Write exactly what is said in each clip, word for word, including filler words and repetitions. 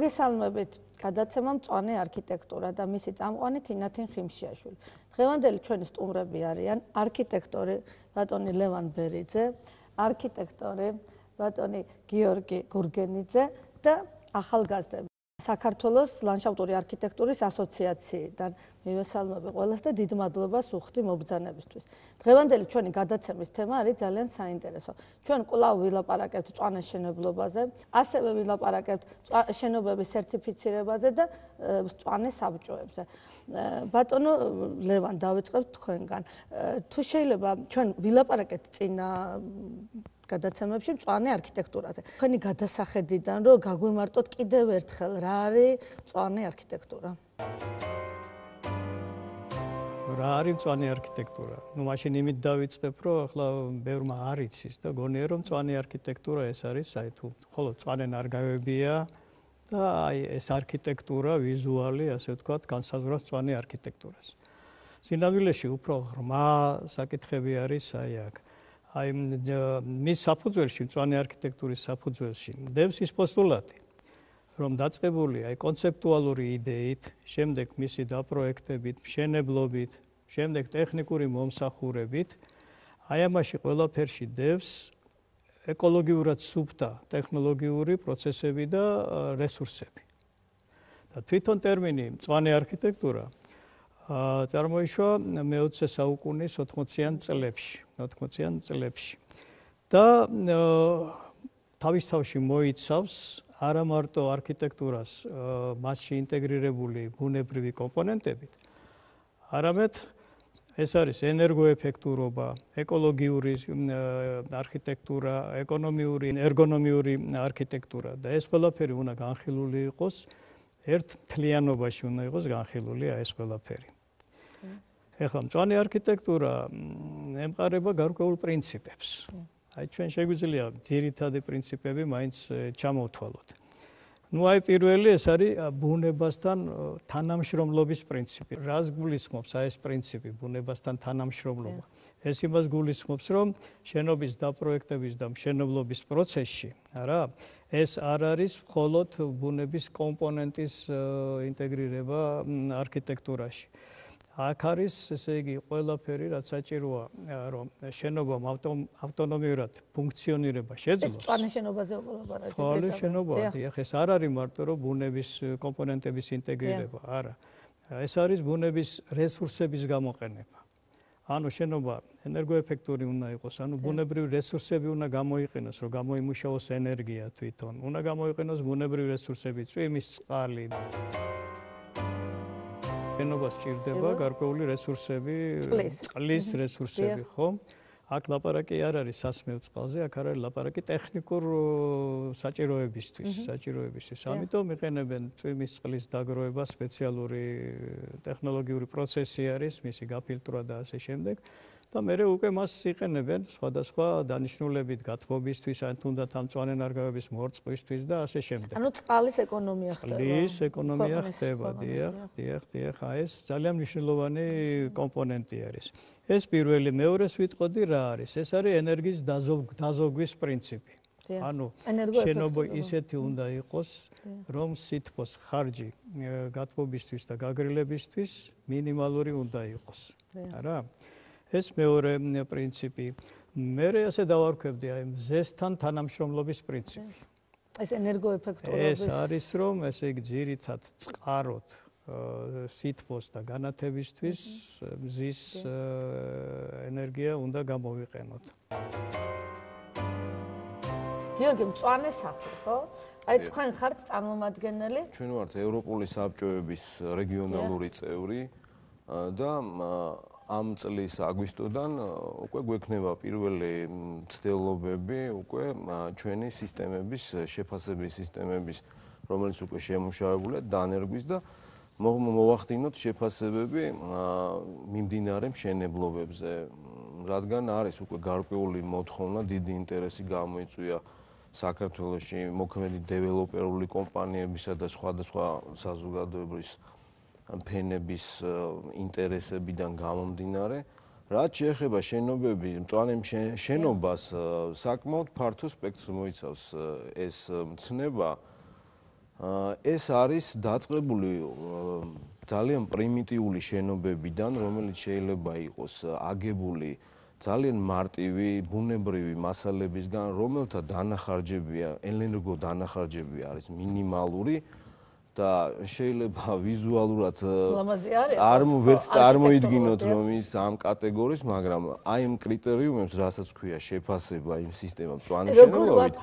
მოგესალმებით გადაცემა მწვანე არქიტექტურა და მისი წამყვანი თინათინ ხიმშიაშვილი. დღევანდელი ჩვენი სტუმრები არიან არქიტექტორი ბატონი ლევან ბერიძე, არქიტექტორი ბატონი გიორგი გურგენიძე და ახალგაზრდები საქართველოს ლანდშაფტური არქიტექტურის ასოციაციიდან. მივესალმები ყველას და დიდ მადლობას უხდი მობრძანებისთვის. დღევანდელი ჩვენი გადაცემის თემა არის ძალიან საინტერესო. ჩვენ კვლავ ვილაპარაკებთ მწვანე შენობაზე, ასევე ვილაპარაკებთ შენობების სერტიფიცირებაზე და მწვანე საბჭოებზე. ბატონო ლევან, დავიწყებთ თქვენგან. თუ შეიძლება ჩვენ ვილაპარაკეთ წინა გადაცემებში მწვანე არქიტექტურაზე. თქვენი გადასახედიდან რომ გაგვიმარტოთ კიდევ ერთხელ რა არის მწვანე არქიტექტურა. რა არის მწვანე არქიტექტურა? ნუ მაშინ იმით დავიწყებ, რომ ახლა ბევრმა არ იცის და გონია რომ მწვანე არქიტექტურა ეს არის აი თუ ხოლო მწვანე ნარგავებია და აი ეს არქიტექტურა ვიზუალი, ასე ვთქვათ, განსაზღვრავს მწვანე არქიტექტურას. სინამდვილეში უფრო ღრმა საკითხები არის აი აქ. აი მის საფუძველში, მწვანე არქიტექტურის საფუძველში დევს ის პოსტულატი, რომ დაწყებულია აი კონცეპტუალური იდეით, შემდეგ მისი დაპროექტებით, მშენებლობით, შემდეგ ტექნიკური მომსახურებით, აი ამაში ყველაფერში დევს ეკოლოგიურად სუფთა ტექნოლოგიური პროცესები და რესურსები. და თვითონ ტერმინი მწვანე არქიტექტურა წარმოიშვა მეოცე საუკუნის ოთხმოციან წლებში, ოთხმოციან წლებში. და თავისთავში მოიცავს არა მარტო არქიტექტურას მასში ინტეგრირებული ბუნებრივი კომპონენტებით, არამედ ეს არის ენერგოეფექტურობა, ეკოლოგიური არქიტექტურა, ეკონომიური, ერგონომიური არქიტექტურა და ეს ყველაფერი უნდა განხილული იყოს ერთ მთლიანობაში უნდა იყოს განხილული ეს ყველაფერი. ეხლა მწვანე არქიტექტურა ემყარება გარკვეულ პრინციპებს. აი ჩვენ შეგვიძლია ძირითადი პრინციპები მაინც ჩამოვთვალოთ. ნუ აი პირველი ეს არის ბუნებასთან თანამშრომლობის პრინციპი. რას გულისხმობს აი ეს პრინციპი ბუნებასთან თანამშრომლობა? ეს იმას გულისხმობს, რომ შენობის დაპროექტების და მშენებლობის პროცესში, არა, ეს არ არის მხოლოდ ბუნების კომპონენტის ინტეგრირება არქიტექტურაში. აქ არის, ესე იგი, ყველაფერი, რაც საჭიროა, რომ შენობამ ავტონომიურად ფუნქციონირება შეძლოს. ეს მწვანე შენობაზე ვლაპარაკობთ. მწვანე შენობაა, დიახ, ეს არ არის მარტო რომ ბუნების კომპონენტების ინტეგრირება, არა. ეს არის ბუნების რესურსების გამოყენება. ანუ შენობა ენერგოეფექტური უნდა იყოს, ანუ ბუნებრივი რესურსები უნდა გამოიყენოს, რომ გამოიმუშაოს ენერგია თვითონ. უნდა გამოიყენოს ბუნებრივი რესურსები, წვიმის წყალი. შენობას სჭირდება გარკვეული რესურსები, წყლის რესურსები, ხო? აქ ლაპარაკი არ არის სასმელ წყალზე, აქ არის ლაპარაკი ტექნიკურ საჭიროებისთვის, საჭიროებისთვის. ამიტომ იყენებენ წვიმის წყლის დაგროვება, სპეციალური ტექნოლოგიური პროცესი არის, მისი გაფილტრვა და ასე შემდეგ. და მერე უკვე მას იყენებენ სხვადასხვა დანიშნულებით გათბობისთვის, ან თუნდაც ამ მწვანე ნარგავების მორწყვისთვის და ასე შემდეგ. ანუ წყლის ეკონომია ხდება. წყლის ეკონომია ხდება, დიახ, დიახ, დიახ, ეს ძალიან მნიშვნელოვანი კომპონენტი არის. ეს პირველი, მეორეს ვიტყოდი რა არის? ეს არის ენერგიის დაზოგვის პრინციპი. ანუ შენობა ისეთი უნდა იყოს, რომ სითბოს ხარჯი გათბობისთვის და გაგრილებისთვის მინიმალური უნდა იყოს. არა? ეს მეორე პრინციპი. მერე ასე დავარქვებდი აი მზესთან თანამშრომლობის პრინციპი. ეს ენერგოეფექტურობის ეს არის რომ ესე იგი ძირითად წყაროთ სითბოს და განათებისთვის მზის ენერგია უნდა გამოვიყენოთ. გიორგი, მწვანე სახლი, ხო? აი თქვენ ხართ წარმომადგენელი? ჩვენ ვართ ევროპული საბჭოების რეგიონალური წევრი და ამ წლის აგვისტოდან უკვე გვექნება პირველი მცდელობები უკვე ჩვენი სისტემების, შეფასების სისტემების, რომელიც უკვე შემუშავებულია დანერგვის და მოვახდინოთ შეფასებები მიმდინარე მშენებლობებზე, რადგან არის უკვე გარკვეული მოთხოვნა, დიდი ინტერესი გამოიწვია საქართველოში მოქმედი დეველოპერული კომპანიებისა და სხვადასხვა საზოგადოებრივი ფენების ინტერესებიდან გამომდინარე, რაც შეეხება შენობების, მწვანე შენობას საკმაოდ ფართო სპექტრს მოიცავს ეს მცნება ეს არის დაწყებული ძალიან პრიმიტიული შენობებიდან, რომელიც შეიძლება იყოს აგებული ძალიან მარტივი ბუნებრივი მასალებისგან, რომელთა დანახარჯებია, ენერგო დანახარჯები არის მინიმალური და შეიძლება ვიზუალურად წარმო ვერ წარმოიდგინოთ რომ ის ამ კატეგორიის, მაგრამ აი ამ კრიტერიუმებს, რასაც ქვია შეფასება იმ სისტემამ მწვანე შენობებით,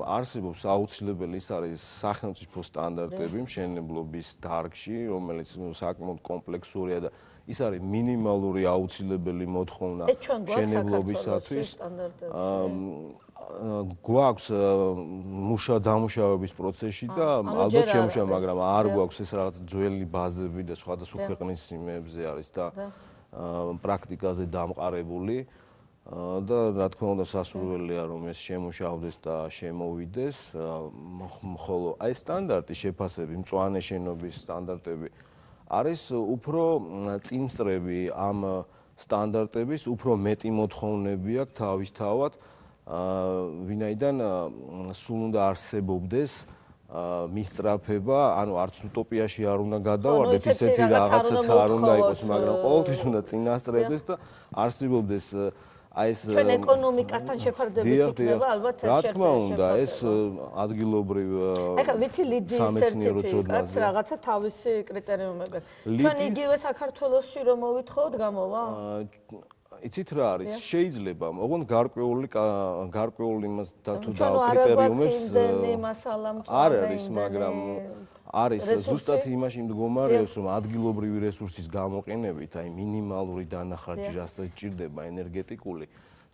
არსებობს აუცილებელი, ის არის სახელმწიფო სტანდარტები მშენებლობის დარგში, რომელიც საკმაოდ კომპლექსურია და ის არის მინიმალური აუცილებელი მოთხოვნა მშენებლობისათვის. გვაქვს მუშა დამუშავების პროცესში და ალბათ შემუშავა, მაგრამ არ გვაქვს ეს რაღაც ძველი ბაზები და სხვადასხვა ქვეყნის იმებზე არის და პრაქტიკაზე დამყარებული და რა თქმა უნდა სასურველია რომ ეს შემუშავდეს და შემოვიდეს, ხოლო აი სტანდარტი შეფასები, მწვანე შენობის სტანდარტები არის უფრო წინსწრები ამ სტანდარტების, უფრო მეტი მოთხოვნები აქვს თავისთავად, ვინაიდან სულ უნდა არსებობდეს მისწრაფება, ანუ არც უტოპიაში არ უნდა გადავარდეთ, ისეთი რაღაცაც არ უნდა იყოს, მაგრამ ყოველთვის უნდა წინასწრებდეს და არსებობდეს აი ეს ჩვენ ეკონომიკასთან შეფარდებით იქნება ალბათ ეს რა თქმა უნდა, ეს ადგილობრივ ეხლა ვიცი ლიდის სერტიფიკატს რაღაცა თავისი კრიტერიუმები. ჩვენ იგივე საქართველოსში რომ მოვითხოვოთ, გამოვა? იცით რა არის? შეიძლება, ოღონდ გარკვეული გარკვეული იმას და თუ და კრიტერიუმებს არ არის, მაგრამ არის ზუსტად იმაში მდგომარეობს, რომ ადგილობრივი რესურსის გამოყენებით, აი მინიმალური დანახარჯი, რასაც ჭირდება ენერგეტიკული,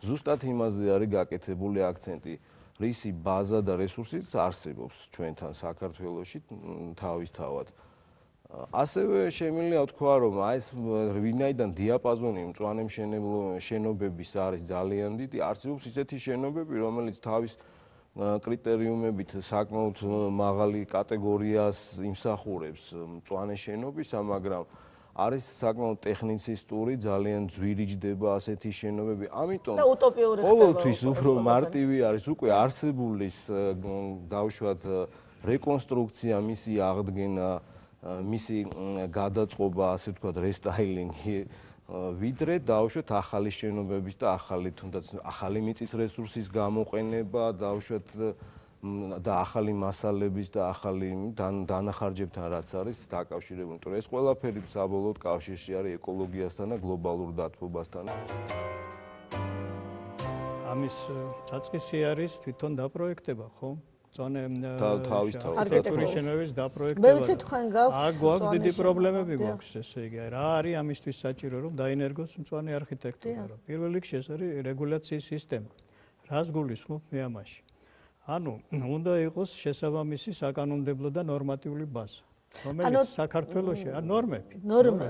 ზუსტად იმაზე არის გაკეთებული აქცენტი, რისი ბაზა და რესურსიც არსებობს ჩვენთან საქართველოში თავისთავად. ასევე შემიძლია ვთქვა, რომ აი ეს ვინაიდან დიაპაზონი მწვანე შენობების არის ძალიან დიდი, არსებობს ისეთი შენობები, რომელიც თავის კრიტერიუმებით საკმაოდ მაღალი კატეგორიას იმსახურებს მწვანე შენობისა, მაგრამ არის საკმაოდ ტექნიცისტური, ძალიან ძვირი ჯდება ასეთი შენობები. ამიტომ ყოველთვის უფრო მარტივი არის უკვე არსებულის დავუშვათ რეკონსტრუქცია, მისი აღდგენა, მისი გადაწყობა, ასე ვთქვათ, რესტაილინგი, ვიდრე დავუშვათ ახალი შენობების და ახალი თუნდაც ახალი მიწის რესურსის გამოყენება, დავუშვათ და ახალი მასალების და ახალი დანახარჯებთან რაც არის დაკავშირებული. იმიტომ რომ ეს ყველაფერი საბოლოოდ კავშირში არის ეკოლოგიასთან და გლობალურ დათბობასთან. ამის დაწყისი არის თვითონ დაპროექტება, ხო? მწვანე არქიტექტურის შენობების დაპროექტება. მე ვიცი თქვენ გაქვთ აქ გვაქვს დიდი პრობლემები გვაქვს, ესე იგი, რა არის ამისთვის საჭირო, რომ დაინერგოს მწვანე არქიტექტურა, რომ პირველ რიგში ეს არის რეგულაციის სისტემა. რას გულისხმობ მე ამაში? ანუ უნდა იყოს შესაბამისი საკანონმდებლო და ნორმატიული ბაზა. რომელიც საქართველოში არ ნორმები.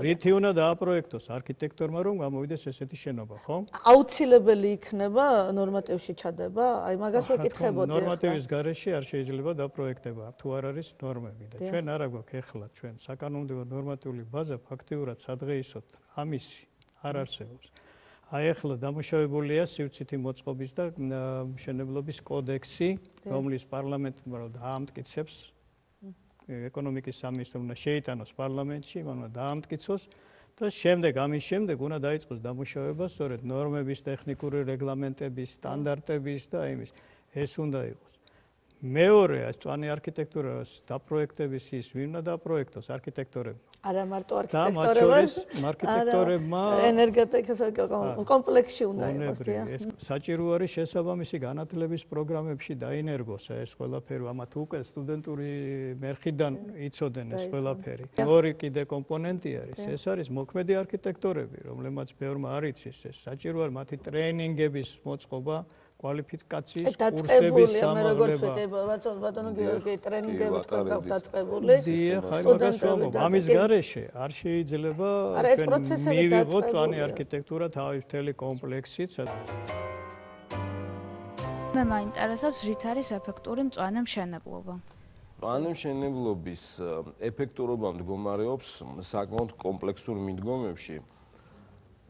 რითი უნდა დააპროექტოს არქიტექტორმა რომ გამოვიდეს ესეთი შენობა, ხო? აუცილებელი იქნება ნორმატივში ჩადება? აი მაგას ვეკითხებოდი. ნორმატივის გარეშე არ შეიძლება დაპროექტება, თუ არ არის ნორმები და ჩვენ არა გვაქვს ეხლა ჩვენ საკანონმდებლო ნორმატიული ბაზა ფაქტიურად სადღეისოდ ამისი არ არსებობს. აი ახლა დამუშავებულია სივრცითი მოწყობის და მშენებლობის კოდექსი, რომლის პარლამენტმა დაამტკიცებს ეკონომიკის სამინისტრო უნდა შეიტანოს პარლამენტში, მან უნდა დაამტკიცოს და შემდეგ ამის შემდეგ უნდა დაიწყოს დამუშავება სწორედ ნორმების, ტექნიკური რეგლამენტების, სტანდარტების და იმის. ეს უნდა იყოს. მეორე, მწვანე არქიტექტურას დაპროექტების ის ვინ უნდა დაპროექტოს არქიტექტორები? არა მარტო არქიტექტორებმა, არქიტექტორებმა ენერგეტიკის კომპლექსში უნდა იყოს, დიახ. საჭირო არის შესაბამისი განათლების პროგრამებში დაინერგოს ეს ყველაფერი, ამათ უკვე სტუდენტური მერხიდან იცოდნენ ეს ყველაფერი. ორი კიდე კომპონენტი არის, ეს არის მოქმედი არქიტექტორები, რომლებმაც ბევრმა არ იცის ეს. საჭირო არის მათი ტრეინინგების მოწყობა, კვალიფიკაციის კურსების სამაღლება. ბატონო გიორგი, ტრენინგები თქვენ დაწყებული? დიახ, აი მაგას ვამბობ. ამის გარეშე არ შეიძლება ჩვენ მივიღოთ მწვანე არქიტექტურა თავის მთელი კომპლექსით. მე მაინტერესებს რით არის ეფექტური მწვანე მშენებლობა. მწვანე მშენებლობის ეფექტურობა მდგომარეობს საკმაოდ კომპლექსურ მიდგომებში.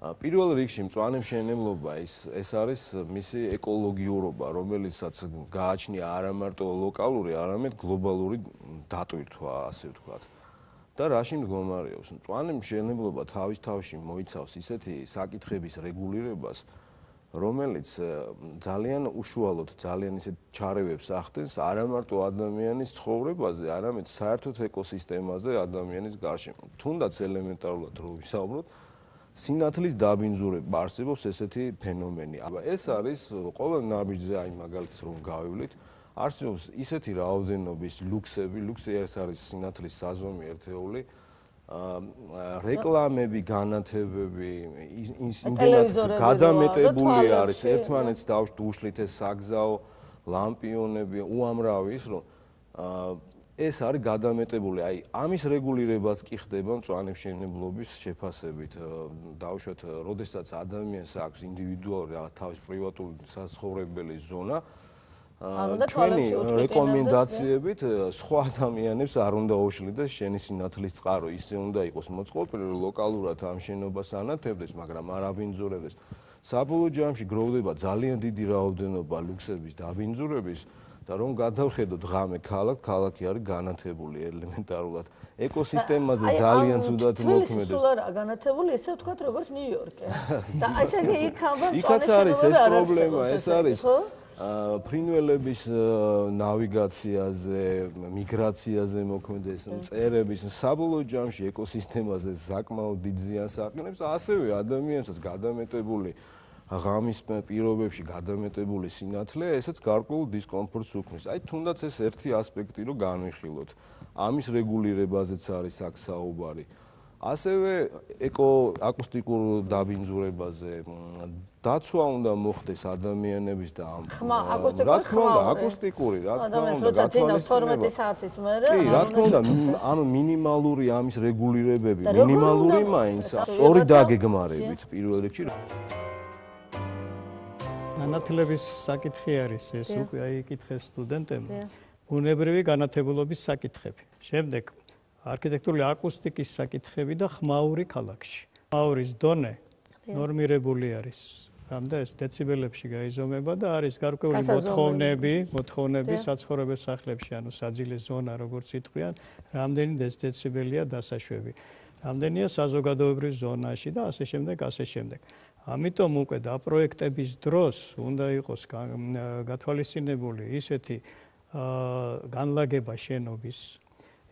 პირველ რიგში მწვანე მშენებლობა ის ეს არის მისი ეკოლოგიურობა, რომელიცაც გააჩნია არა მარტო ლოკალური, არამედ გლობალური დატვირთვა, ასე ვთქვათ. და რაში მდგომარეობს? მწვანე მშენებლობა თავის თავში მოიცავს ისეთი საკითხების რეგულირებას, რომელიც ძალიან უშუალოდ, ძალიან ისეთ ჩარევებს ახდენს არა მარტო ადამიანის ცხოვრებაზე, არამედ საერთოდ ეკოსისტემაზე ადამიანის გარშემო. თუნდაც ელემენტარულად რო ვისაუბროთ, სინათლის დაბინძურება არსებობს ესეთი ფენომენი. აბა ეს არის ყოველ ნაბიჯზე, აი მაგალითად რომ გავივლით, არსებობს ისეთი რაოდენობის ლუქსები, ლუქსი ეს არის სინათლის საზომი ერთეული, რეკლამები, განათებები, იმდენად გადამეტებული არის ერთმანეთს დაუშლით ეს საგზაო ლამპიონები, უამრავი ის რომ ეს არის გადამეტებული. აი ამის რეგულირებაც კი ხდება მწვანე მშენებლობის შეფასებით. დავუშვათ, როდესაც ადამიანს აქვს ინდივიდუალური თავის პრივატული საცხოვრებელი ზონა, ჩვენი რეკომენდაციებით სხვა ადამიანებს არ უნდა უშლიდეს შენი სინათლის წყარო, ისე უნდა იყოს მოწყობილი, ლოკალურად ამ შენობას ანათებდეს, მაგრამ არ აბინძურებდეს. საბოლოო ჯამში გროვდება ძალიან დიდი რაოდენობა ლუქსების დაბინძურების და რომ გადავხედოთ ღამე ქალაქ, ქალაქი არის განათებული ელემენტარულად. ეკოსისტემაზე ძალიან ცუდად მოქმედებს. სულ არა განათებული, ისე ვთქვათ, როგორც ნიუ-იორკი. და ესე იგი იქ ალბათ იქაც არის ეს პრობლემა, ეს არის ფრინველების ნავიგაციაზე, მიგრაციაზე მოქმედეს, მწერების, საბოლოო ჯამში ეკოსისტემაზე საკმაოდ დიდ ზიანს აყენებს, ასევე ადამიანსაც გადამეტებული ღამის პირობებში გადამეტებული სინათლე, ესეც გარკვეულ დისკომფორტს უქმნის. აი თუნდაც ეს ერთი ასპექტი რომ განვიხილოთ. ამის რეგულირებაზეც არის აქ საუბარი. ასევე ეკო-აკუსტიკურ დაბინძურებაზე დაცვა უნდა მოხდეს ადამიანების და ამ ხმა აკუსტიკური ხმა აკუსტიკური რა თქმა ადამიანს როცა ძინავს თორმეტი საათის მერე კი რა თქმა უნდა ანუ მინიმალური ამის რეგულირებები მინიმალური მაინც სწორი დაგეგმარებით პირველ რიგში განათლების საკითხი არის ეს უკვე აი იკითხეს სტუდენტებმა ბუნებრივი განათებულობის საკითხები შემდეგ არქიტექტურული აკუსტიკის საკითხები და ხმაური ქალაქში. ხმაურის დონე ნორმირებული არის. რამდა ეს დეციბელებში გაიზომება და არის გარკვეული მოთხოვნები, მოთხოვნები საცხოვრებელ სახლებში, ანუ საძილე ზონა, როგორც იტყვიან, რამდენი დეციბელია დასაშვები. რამდენია საზოგადოებრივ ზონაში და ასე შემდეგ, ასე შემდეგ. ამიტომ უკვე დაპროექტების დროს უნდა იყოს გათვალისწინებული ისეთი განლაგება შენობის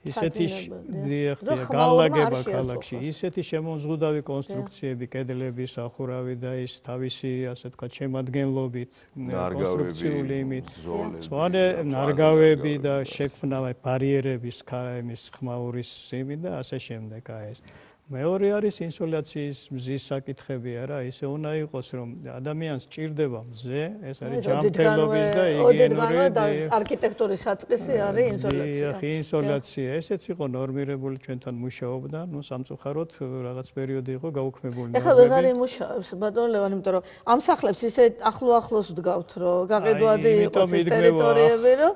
ისეთი განლაგება ქალაქში, ისეთი შემოზღუდავი კონსტრუქციები, კედლები, სახურავი და ის თავისი, ასე ვთქვათ, შემადგენლობით, კონსტრუქციული იმით, მწვანე ნარგავები და შექმნა ბარიერების, ქარის, ხმაურის იმით და ასე შემდეგ, აი ეს. მეორე არის ინსოლაციის მზის საკითხები, არა, ისე უნდა იყოს, რომ ადამიანს ჭირდება მზე, ეს არის ჯანმრთელობის და იგიენური და არქიტექტურის საწყისი არის ინსოლაცია. კი, ინსოლაცია, ესეც იყო ნორმირებული ჩვენთან მუშაობდა, ნუ სამწუხაროდ რაღაც პერიოდი იყო გაუქმებული. ეხლა ვეღარ იმუშავებს ბატონო ლევან, იმიტომ რომ ამ სახლებს ისე ახლო-ახლოს ვდგავთ, რომ გაყიდვადი იყოს ეს ტერიტორიები, რომ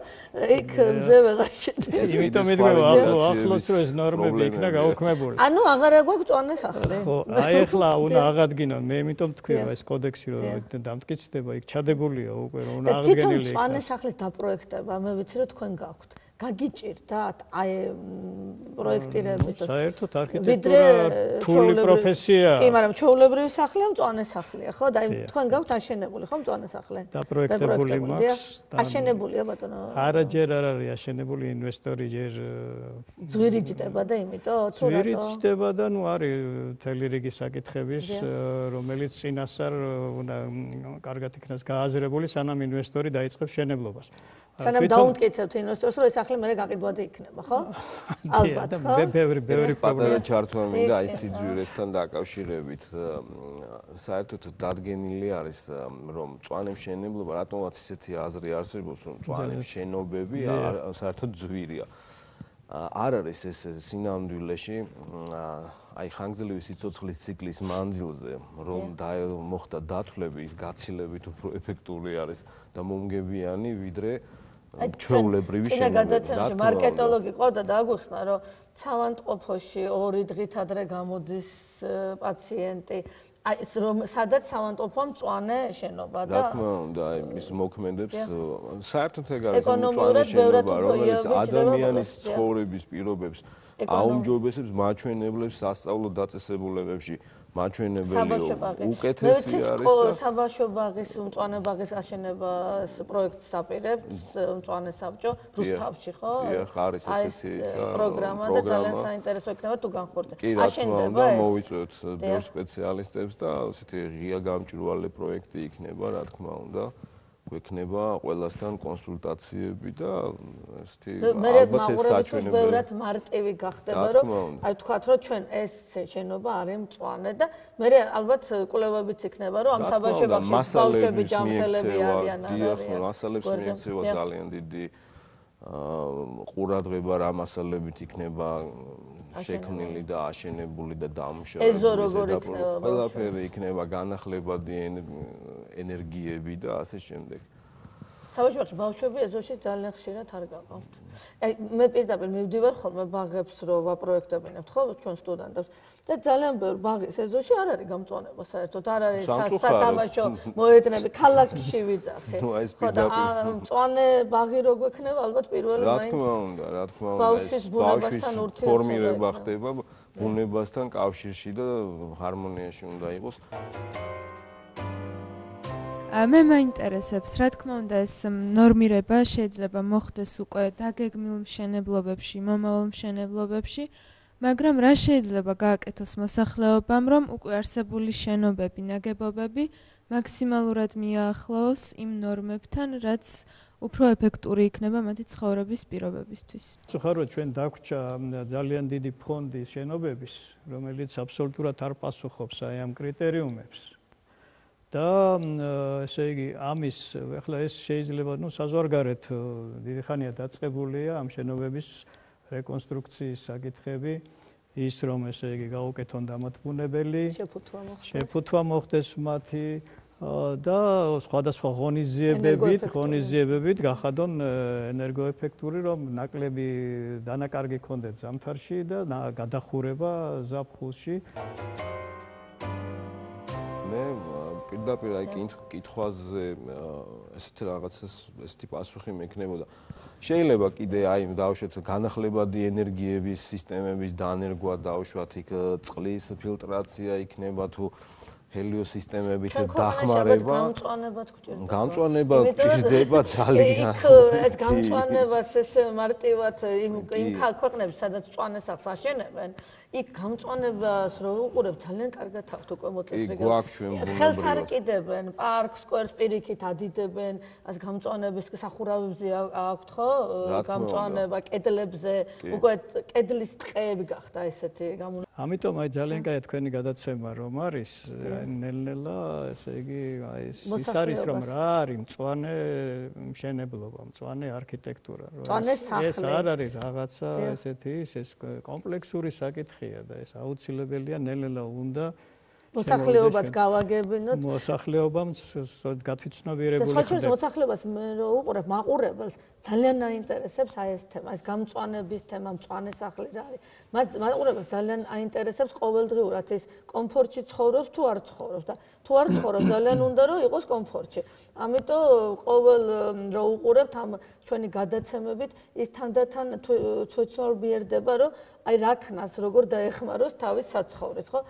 იქ მზე ვეღარ შედის. იმიტომ მიდგება ახლო-ახლოს რომ ეს ნორმები იქნა გაუქმებული. ანუ აღარ გვაქვს წვანე სახლი. ხო, აი ახლა უნდა აღადგინონ. მე იმიტომ თქვი რომ ეს კოდექსი რომ დამტკიცდება, იქ ჩადებულია უკვე რომ უნდა აღდგენილი. თვითონ წვანე სახლის დაპროექტება, მე ვიცი რომ თქვენ გაქვთ. გაგიჭირდათ აი პროექტირების და საერთოდ არქიტექტურა რთული პროფესიაა. კი, მაგრამ ჩვეულებრივი სახლია მწვანე სახლია, ხო? და თქვენ გაქვთ აშენებული, ხო, მწვანე სახლი? დაპროექტებული მაქვს. აშენებულია ბატონო? არა, ჯერ არ არის აშენებული, ინვესტორი ჯერ ძვირი ჯდება და იმიტომ თუ რატო? ძვირი ჯდება და ნუ არის მთელი რიგი საკითხების, რომელიც წინასწარ უნდა კარგად იქნას გააზრებული, სანამ ინვესტორი დაიწყებს შენებლობას. სანამ დაუმტკიცებთ ინვესტორს, რომ ეს სახლი მერე გაყიდვადი იქნება, ხო? ალბათ, ხო? ბევრი, ბევრი პატარა ჩართვა მინდა აი სიძვირესთან დაკავშირებით. საერთოდ დადგენილი არის, რომ მწვანე მშენებლობა, რატომაც ისეთი აზრი არსებობს, რომ მწვანე მშენობები საერთოდ ძვირია. არ არის ეს სინამდვილეში აი ხანგრძლივი სიცოცხლის ციკლის მანძილზე, რომ მოხდა დათვლები, ის გაცილებით უფრო ეფექტური არის და მომგებიანი, ვიდრე ჩვეულებრივი შენობები. წინა გადაცემაში მარკეტოლოგი ყავდა და აგვიხსნა, რომ ცალანტყოფოში ორი დღით ადრე გამოდის პაციენტი, აი სადაც სამავთობო მწვანე შენობა და რა თქმა უნდა, აი ის მოქმედებს საერთოდ ეგ არის მწვანე შენობა, რომელიც ადამიანის ცხოვრების პირობებს აუმჯობესებს მაჩვენებლებს სასწავლო დაწესებულებებში. მაჩვენებელი უკეთესი არის და საბავშვო ბაღის მწვანე ბაღის აშენებას პროექტს აპირებს მწვანე საბჭო რუსთავში ხო? დიახ, არის ესეთი პროგრამა და ძალიან საინტერესო იქნება თუ განხორციელდება. აშენდება ეს. მოვიწვევთ ბევრ სპეციალისტებს და ესეთი ღია გამჭვირვალე პროექტი იქნება, რა თქმა უნდა. გვექნება ყველასთან კონსულტაციები და ესეთი ალბათ ეს საჩვენებელი ბევრად მარტივი გახდება რომ აი ვთქვათ რომ ჩვენ ეს შენობა არის მწვანე და მე ალბათ კვლევებიც იქნება რომ ამ საბავშვო ბაღში ბავშვები ჯანმრთელები არიან არ არიან. დიახ, მასალებს მიექცევა ძალიან დიდი ყურადღება რა მასალებით იქნება შექმნილი და აშენებული და დამუშავებული. ეზო როგორ იქნება? ყველაფერი იქნება განახლებადი ენერგიები და ასე შემდეგ. საბავშვო ბაღში ბავშვები ეზოში ძალიან ხშირად არ გაყავთ. აი მე პირდაპირ მივდივარ ხოლმე ბაღებს რო ვაპროექტებინებთ ხო ჩვენ სტუდენტებს და ძალიან ბევრ ბაღის ეზოში არ არის გამწვანება საერთოდ არ არის სათამაშო მოედნები ქალაქში ვიძახე. ხო და მწვანე ბაღი რო გვექნება ალბათ პირველი მაინც რა თქმა უნდა რა თქმა უნდა ბავშვის ბუნებასთან ურთიერთობა ფორმირება ხდება ბუნებასთან კავშირში და ჰარმონიაში უნდა იყოს. მე მაინტერესებს, რა თქმა უნდა, ეს ნორმირება შეიძლება მოხდეს უკვე დაგეგმილ მშენებლობებში, მომავალ მშენებლობებში, მაგრამ რა შეიძლება გააკეთოს მოსახლეობამ, რომ უკვე არსებული შენობები, ნაგებობები მაქსიმალურად მიაახლოოს იმ ნორმებთან, რაც უფრო ეფექტური იქნება მათი ცხოვრების პირობებისთვის. წუხაროდ ჩვენ დაგვჭა ძალიან დიდი ფონდი შენობების, რომელიც აბსოლუტურად არ პასუხობს აი ამ კრიტერიუმებს. და ესე იგი ამის ახლა ეს შეიძლება ნუ საზღვარგარეთ დიდი ხანია დაწყებულია ამ შენობების რეკონსტრუქციის საკითხები ის რომ ესე იგი გაუკეთონ დამატბუნებელი შეფუთვა მოხდეს მათი და სხვადასხვა ღონისძიებებით ღონისძიებებით გახადონ ენერგოეფექტური რომ ნაკლები დანაკარგი ქონდეთ ზამთარში და გადახურება ზაფხულში მე პირდაპირ აი კითხვაზე ესეთი რაღაცას ესეთი პასუხი მექნებოდა. შეიძლება კიდე აი დავუშვათ განახლებადი ენერგიების სისტემების დანერგვა დავუშვათ იქ წყლის ფილტრაცია იქნება თუ ჰელიოსისტემებით დახმარება გამწვანებად გვჭირდება. გამწვანება გვჭირდება ძალიან. ეს გამწვანებას ეს მარტივად იმ იმ ქვეყნებში სადაც მწვანე სახლს აშენებენ იქ გამწვანებას რო უყურებ ძალიან კარგად აქვთ უკვე მოწესრიგებული. ხელს არ კიდებენ, პარკს, სკვერს პირიქით ადიდებენ, ას გამწვანების სახურავებზე აქვთ ხო? გამწვანება კედლებზე, უკვე კედლის ტყეები გახდა ესეთი გამო. ამიტომ აი ძალიან კაია თქვენი გადაცემა რომ არის, აი ნელ-ნელა, ესე იგი, აი ის არის რომ რა არის მწვანე მშენებლობა, მწვანე არქიტექტურა, რომ ეს არ არის რაღაცა ესეთი ეს კომპლექსური საკითხი და ეს აუცილებელია ნელ-ნელა უნდა მოსახლეობას გავაგებინოთ მოსახლეობამ გათვითცნობიერებული ხდება. და სხვა მოსახლეობას მე რო უყურებ მაყურებელს ძალიან აინტერესებს აი ეს თემა, ეს გამწვანების თემა, მწვანე სახლი რა არის. მას მაყურებელს ძალიან აინტერესებს ყოველდღიურად ის კომფორტში ცხოვრობს თუ არ ცხოვრობს და თუ არ ცხოვრობს ძალიან უნდა რომ იყოს კომფორტში. ამიტომ ყოველ რო უყურებთ ამ ჩვენი გადაცემებით ის თანდათან თვითცნობიერდება რომ აი რაქნას როგორ დაეხმაროს თავის საცხოვრეს, ხო?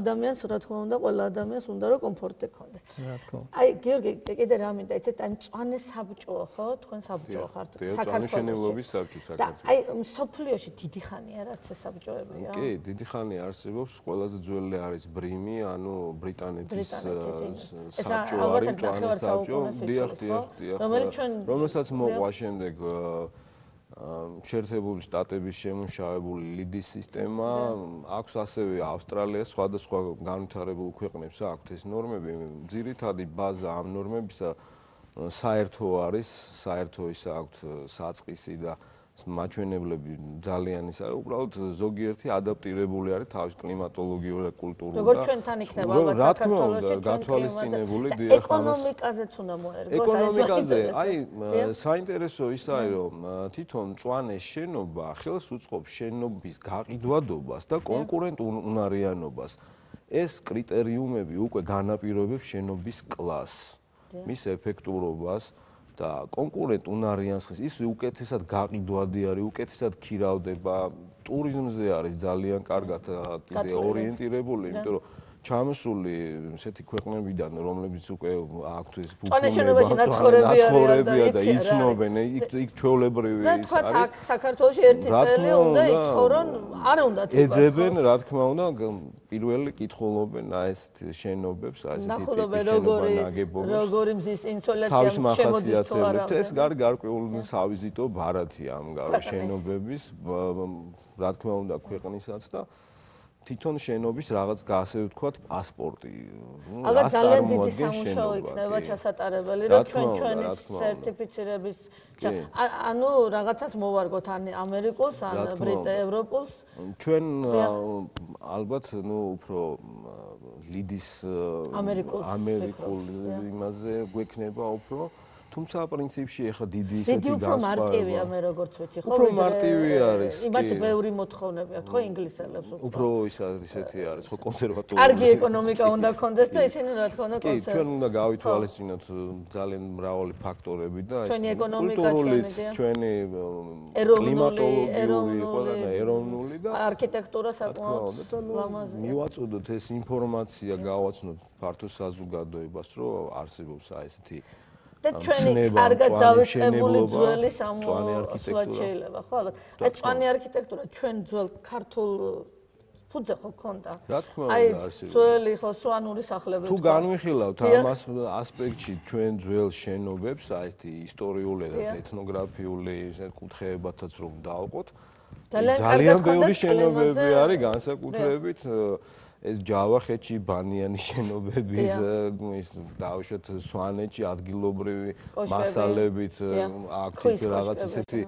ადამიანს რა თქმა უნდა, ყველა ადამიანს უნდა რომ კომფორტი ჰქონდეს. რა თქმა უნდა. აი გიორგი, კიდე რა მინდა იცით, აი მწვანე საბჭოა, ხო? თქვენ საბჭო ხართ საქართველოში. და აი მსოფლიოში დიდი ხანია რაც ეს საბჭოებია. კი, დიდი ხანია არსებობს, ყველაზე ძველი არის ბრიმი, ანუ ბრიტანეთის საბჭო არის, მწვანე საბჭო. დიახ, დიახ, დიახ. რომელსაც მოყვა შემდეგ შეერთებული შტატების შემუშავებული ლიდის სისტემა, აქვს ასევე ავსტრალიას, სხვადასხვა განვითარებულ ქვეყნებს აქვთ ეს ნორმები. ძირითადი ბაზა ამ ნორმებისა საერთო არის, საერთო ის აქვთ საწყისი და მაჩვენებლები ძალიან ის არის, უბრალოდ ზოგიერთი ადაპტირებული არის თავის კლიმატოლოგიურ და კულტურულ და როგორც ჩვენთან იქნება ალბათ საქართველოში გათვალისწინებული დიახ ამას ეკონომიკაზეც უნდა მოერგოს ეკონომიკაზე აი საინტერესო ის არის რომ თვითონ მწვანე შენობა ხელს უწყობს შენობის გაყიდვადობას და კონკურენტ უნარიანობას ეს კრიტერიუმები უკვე განაპირობებს შენობის კლასს, მის ეფექტურობას და კონკურენტ უნარიანს ხის ის უკეთესად გაყიდვადი არის, უკეთესად ქირავდება, ტურიზმზე არის ძალიან კარგად კიდე ორიენტირებული, იმიტომ რომ ჩამოსული ესეთი ქვეყნებიდან, რომლებიც უკვე აქვთ ეს ფუფუნება, ნაცხოვრებია და იცნობენ, იქ ჩვეულებრივი ის არის. და თქვა საქართველოში ერთი წელი უნდა იცხოვრონ, არ უნდა თქო. ეძებენ, რა თქმა უნდა, პირველი კითხულობენ აი ეს შენობებს, აი ესეთი ტიპის შენობა ნაგებობებს. როგორი მზის ინსოლაცია შემოდის თუ არა. ეს გარკვეული სავიზიტო ბარათია ამ შენობების, რა თქმა უნდა, ქვეყნისაც და თვითონ შენობის რაღაც ასე ვთქვათ პასპორტი. ალბათ ძალიან დიდი სამუშაო იქნება ჩასატარებელი, რომ ჩვენ ჩვენი სერტიფიცირების ანუ რაღაცას მოვარგოთ ან ამერიკულს, ან ბრიტ ევროპულს. ჩვენ ალბათ ნუ უფრო ლიდის ამერიკულ იმაზე გვექნება უფრო თუმცა პრინციპში ახლა დიდი ისეთი განსხვავება. დიდი უფრო მარტივია მე როგორც ვიცი, ხო? უფრო მარტივი არის. იმათ ბევრი მოთხოვნები აქვს, ხო, ინგლისელებს უფრო. უფრო ის ისეთი არის, ხო, კონსერვატორი. კარგი ეკონომიკა უნდა ქონდეს და ისინი რა თქმა უნდა კონსერვატორი. კი, ჩვენ უნდა გავითვალისწინოთ ძალიან მრავალი ფაქტორები და ეს კულტურულიც, ჩვენი კლიმატოლოგიური, ყველა ეროვნული და არქიტექტურა საკმაოდ ლამაზია. მივაწოდოთ ეს ინფორმაცია, გავაცნოთ ფართო საზოგადოებას, რომ არსებობს აი ესეთი და ჩვენი კარგად დავიწყებული ძველი სამოსვლა შეიძლება, ხო? ალბათ. აი წვანი არქიტექტურა ჩვენ ძველ ქართულ ფუძე ხო ქონდა? რა თქმა უნდა, არსებობს. ძველი ხო სვანური სახლები თუ განვიხილავთ ამას ასპექტში ჩვენ ძველ შენობებს, აი ესეთი ისტორიული და ეთნოგრაფიული კუთხეებათაც რომ დავყოთ, ძალიან ბევრი შენობები არის განსაკუთრებით ეს ჯავახეთში ბანიანი შენობები ის დავუშვათ სვანეთში ადგილობრივი მასალებით აქ რაღაც ისეთი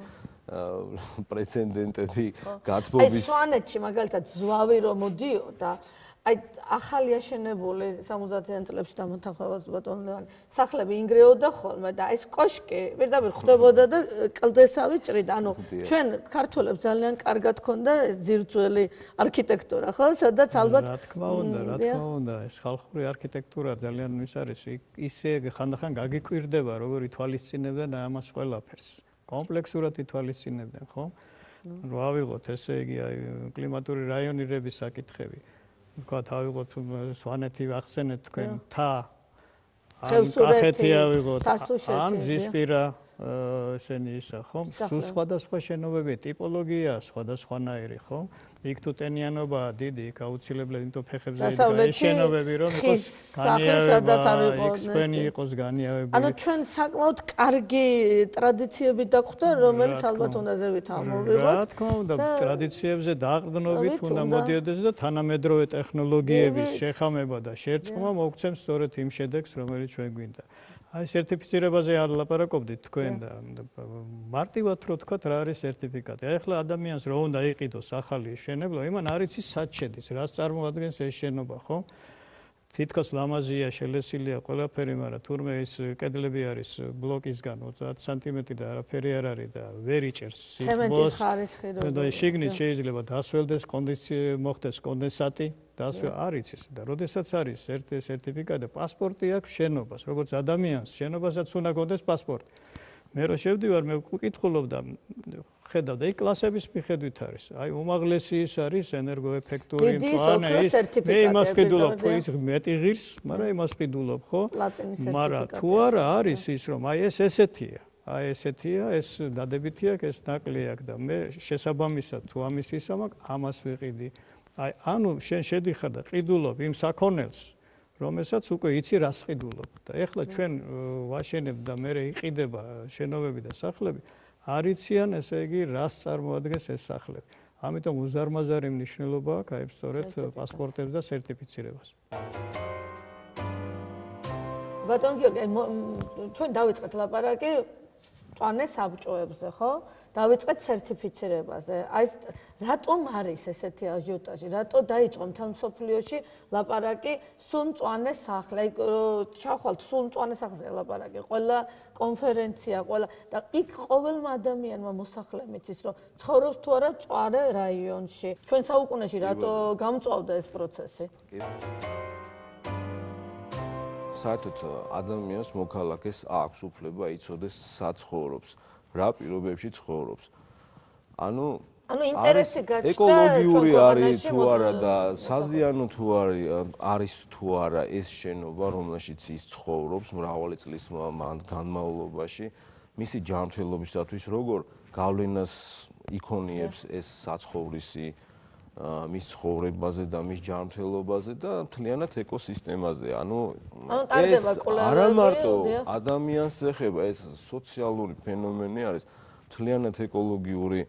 პრეცედენტები გათბობის აი სვანეთში მაგალითად ზვავი რომ მოდიოდა აი ახალი აშენებული სამოცდაათიან წლებში დამოთანხმებას ბატონ ლევანი სახლები ინგრეოდა ხოლმე და ეს კოშკი პირდაპირ ხვდებოდა და კლდესავი ჭრიდა ანუ ჩვენ ქართველებს ძალიან კარგად ქონდა ძირძველი არქიტექტურა ხო სადაც ალბათ რა თქმა უნდა რა თქმა უნდა ეს ხალხური არქიტექტურა ძალიან ის არის ისე ხანდახან გაგიკვირდება როგორ ითვალისწინებდნენ ამას ყველაფერს კომპლექსურად ითვალისწინებდნენ ხო რა ავიღოთ ესე იგი აი კლიმატური რაიონირების საკითხები თქვა თავიღოთ სვანეთი ახსენეთ თქვენ თა ან კახეთი ავიღოთ ან ზისპირა ესენი ისა ხო სულ სხვადასხვა შენობები ტიპოლოგია სხვადასხვანაირი ხო იქ თუ ტენიანობა დიდი იქ აუცილებლად იმიტომ ფეხებზე ის შენობები რომ იყოს განიავება ექსპენი იყოს განიავებული ანუ ჩვენ საკმაოდ კარგი ტრადიციები დაგვხვდა რომელიც ალბათ უნდა ზევით ამოვიღოთ რა თქმა უნდა ტრადიციებზე დაყრდნობით უნდა მოდიოდეს და თანამედროვე ტექნოლოგიების შეხამება და შერწყმა მოგცემს სწორედ იმ შედეგს რომელიც ჩვენ გვინდა აი სერტიფიცირებაზე არ ლაპარაკობდით თქვენ და მარტივად რო თქვათ რა არის სერტიფიკატი. აი ახლა ადამიანს რო უნდა იყიდოს ახალი შენებლობა, იმან არ იცის სად შედის, რას წარმოადგენს ეს შენობა, ხო? თითქოს ლამაზია, შელესილია ყველაფერი, მაგრამ თურმე ის კედლები არის ბლოკისგან ოცდაათი სანტიმეტრი და არაფერი არ არის და ვერ იჭერს ცემენტის ხარისხი რო და შიგნით შეიძლება დასველდეს კონდიცია მოხდეს კონდენსატი დასვე არ იცის და როდესაც არის სერტიფიკატი და პასპორტი აქვს შენობას როგორც ადამიანს შენობასაც უნდა გქონდეს პასპორტი მე რო შევდივარ მე ვკითხულობ და ხედავ და იქ კლასების მიხედვით არის აი უმაღლესი ის არის ენერგოეფექტური მწვანე ის მე იმას ვყიდულობ ხო ის მეტი ღირს მაგრამ იმას ვყიდულობ ხო მაგრამ თუ არა არის ის რომ აი ეს ესეთია აი ესეთია ეს დადებითი აქვს ეს ნაკლი აქვს და მე შესაბამისად თუ ამის ისა მაქვს ამას ვიყიდი აი ანუ შენ შედიხარ და ყიდულობ იმ საქონელს რომელსაც უკვე იცი რას ყიდულობ და ეხლა ჩვენ ვაშენებ და მე იყიდება შენობები და სახლები არ იციან ესე იგი რას წარმოადგენს ეს სახლები ამიტომ უზარმაზარი მნიშვნელობა აქვს აი სწორედ პასპორტებს და სერტიფიცირებას ბატონ გიორგი ჩვენ დავიწყეთ ლაპარაკი მწვანე საბჭოებზე, ხო? დავიწყეთ სერტიფიცირებაზე. აი რატომ არის ესეთი აჟიოტაჟი? რატო დაიწყო მთელ მსოფლიოში ლაპარაკი სულ მწვანე სახლი? აი ჩახვალთ სულ მწვანე სახლზე ლაპარაკი. ყველა კონფერენცია, ყველა და იქ ყოველმა ადამიანმა მოსახლემ იცის, რომ ცხოვრობს თუ არა მწვანე რაიონში. ჩვენ საუკუნეში რატო გამწვავდა ეს პროცესი? საერთოდ ადამიანს მოქალაქეს აქვს უფლება იცოდეს სად ცხოვრობს, რა პირობებში ცხოვრობს. ანუ ანუ ინტერესი გაჩნდა ეკოლოგიური არის თუ არა და საზიანო თუ არის თუ არა ეს შენობა, რომელშიც ის ცხოვრობს მრავალი წლის განმავლობაში, მისი ჯანმრთელობისათვის როგორ გავლენას იქონიებს ეს საცხოვრისი მის ცხოვრებაზე და მის ჯანმრთელობაზე და მთლიანად ეკოსისტემაზე. ანუ ეს არა მარტო ადამიანს ეხება, ეს სოციალური ფენომენი არის, მთლიანად ეკოლოგიური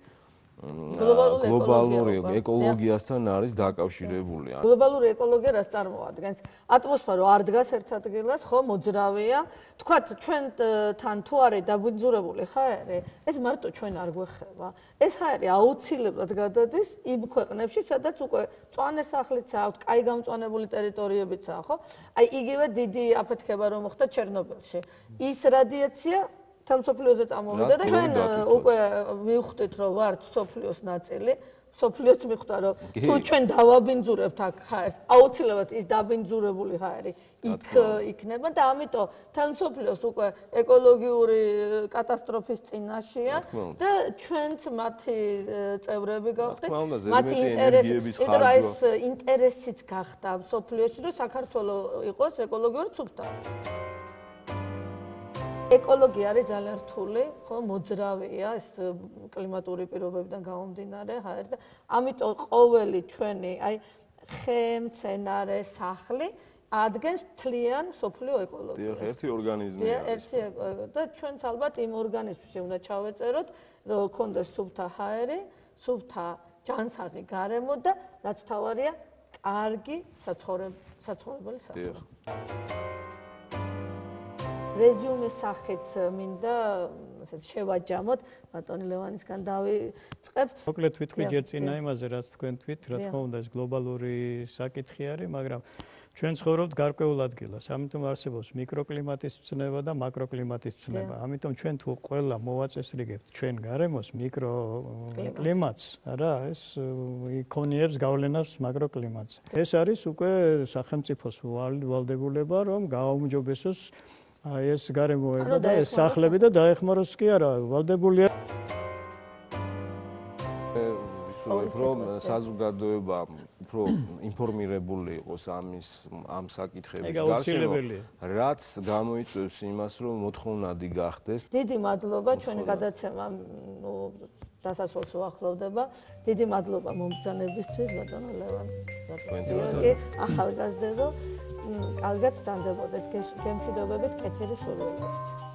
გლობალური ეკოლოგიასთან არის დაკავშირებული. გლობალური ეკოლოგია რას წარმოადგენს? ატმოსფერო არ დგას ერთ ადგილას, ხო, მოძრავია. თქვათ, ჩვენთან თუ არის დაბინძურებული ჰაერი, ეს მარტო ჩვენ არ გვეხება. ეს ჰაერი აუცილებლად გადადის იმ ქვეყნებში, სადაც უკვე მწვანე სახლიც აქვს, კაი გამწვანებული ტერიტორიებიც აქვს, ხო? აი იგივე დიდი აფეთქება რომ მოხდა ჩერნობილში. ის რადიაცია მსოფლიოზე წამოვიდა და ჩვენ უკვე მივხვდით რომ ვართ მსოფლიოს ნაწილი. მსოფლიოც მიხვდა რომ თუ ჩვენ დავაბინძურებთ აქ ჰაერს, აუცილებლად ის დაბინძურებული ჰაერი იქ იქნება და ამიტომ თან მსოფლიოს უკვე ეკოლოგიური კატასტროფის წინაშეა და ჩვენც მათი წევრები გავხდით. მათი ინტერესი, იმიტომ რომ ეს ინტერესიც გახდა მსოფლიოში რომ საქართველოს იყოს ეკოლოგიურად სუფთა. ეკოლოგია არის ძალიან რთული, ხო, მოძრავია ეს კლიმატური პირობებიდან გამომდინარე ჰაერს და ამიტომ ყოველი ჩვენი აი ხე, მცენარე, სახლი ადგენს მთლიან მსოფლიო ეკოლოგიას. დიახ, ერთი ორგანიზმია. ერთი და ჩვენც ალბათ იმ ორგანიზმში უნდა ჩავეწეროთ, რომ გქონდეს სუფთა ჰაერი, სუფთა ჯანსაღი გარემო და რაც მთავარია, კარგი საცხოვრებელი სახლი. რეზიუმის სახით მინდა ესეთ შევაჯამოთ ბატონი ლევანისგან დავიწყებ. მოკლედ ვიტყვი ჯერ წინა იმაზე, რაც თქვენ თქვით, რა თქმა უნდა ეს გლობალური საკითხი არის, მაგრამ ჩვენ ცხოვრობთ გარკვეულ ადგილას, ამიტომ არსებობს მიკროკლიმატის ცნება და მაკროკლიმატის ცნება. ამიტომ ჩვენ თუ ყველა მოვაწესრიგებთ ჩვენ გარემოს მიკროკლიმატს, არა, ეს იქონიებს გავლენას მაკროკლიმატზე. ეს არის უკვე სახელმწიფოს ვალდებულება, რომ გააუმჯობესოს აი ეს გარემოება და ეს სახლები და დაეხმაროს კი არა, ვალდებულია ვისურვებ რომ საზოგადოება უფრო ინფორმირებული იყოს ამის ამ საკითხების გარშემო, რაც გამოიწვევს იმას, რომ მოთხოვნადი გახდეს. დიდი მადლობა ჩვენი გადაცემა ნუ დასასრულს უახლოვდება. დიდი მადლობა მომბრძანებისთვის ბატონო ლევან. გიორგი ახალგაზრდებო კარგად ბრძანდებოდეთ გემშვიდობებით კეთილი სურვილებით.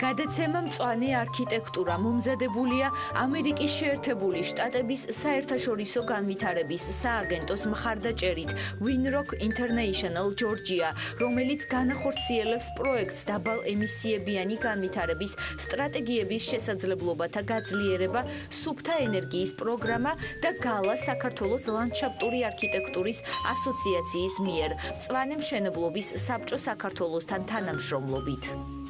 გადაცემა მწვანე არქიტექტურა მომზადებულია ამერიკის შეერთებული შტატების საერთაშორისო განვითარების სააგენტოს მხარდაჭერით Winrock International Georgia, რომელიც განახორციელებს პროექტს დაბალ ემისიებიანი განვითარების სტრატეგიების შესაძლებლობათა გაძლიერება, სუფთა ენერგიის პროგრამა და გალა საქართველოს ლანდშაფტური არქიტექტურის ასოციაციის მიერ მწვანე მშენებლობის საბჭო საქართველოსთან თანამშრომლობით.